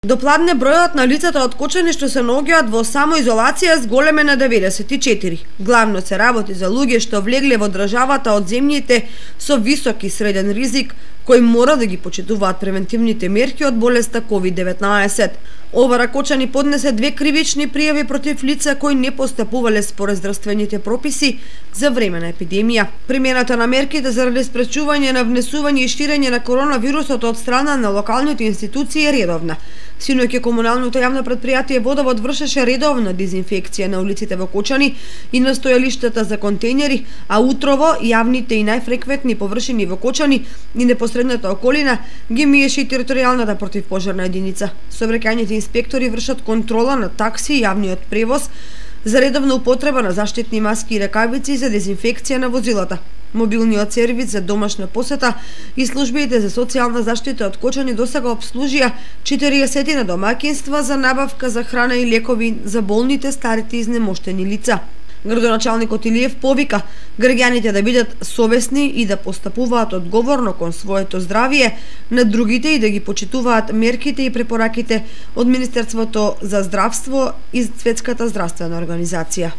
Допладне бројот на лицата од Кочани што се наоѓаат во самоизолација зголеме на 94. Главно се работи за луѓе што влегле во државата од земјите со висок и среден ризик, кои мора да ги почитуваат превентивните мерки од болеста COVID-19. Ова Кочани поднесе 2 кривични пријави против лица кои не постапувале според здравствените прописи за време на епидемија. Примената на мерките заради спречување на внесување и ширење на коронавирусот од страна на локалните институции е редовна. Синоќа комуналното јавно претпријатие Водовод вршеше редовна дезинфекција на улиците во Кочани и на стојалиштата за контејнери, а утрово јавните и најфреквентни површини во Кочани и непосредната околина ги миеше и територијалната противпожарна единица. Сообраќајните инспектори вршат контрола на такси и јавниот превоз за редовна употреба на заштитни маски и ракавици за дезинфекција на возилата. Мобилниот сервис за домашна посета и службите за социјална заштита од Кочани досега обслужија 40 домаќинства за набавка за храна и лекови за болните, старите и изнемоштени лица. Градоначалникот Илиев повика граѓаните да бидат совесни и да постапуваат одговорно кон своето здравје, на другите и да ги почитуваат мерките и препораките од Министерството за здравство и Светската здравствена организација.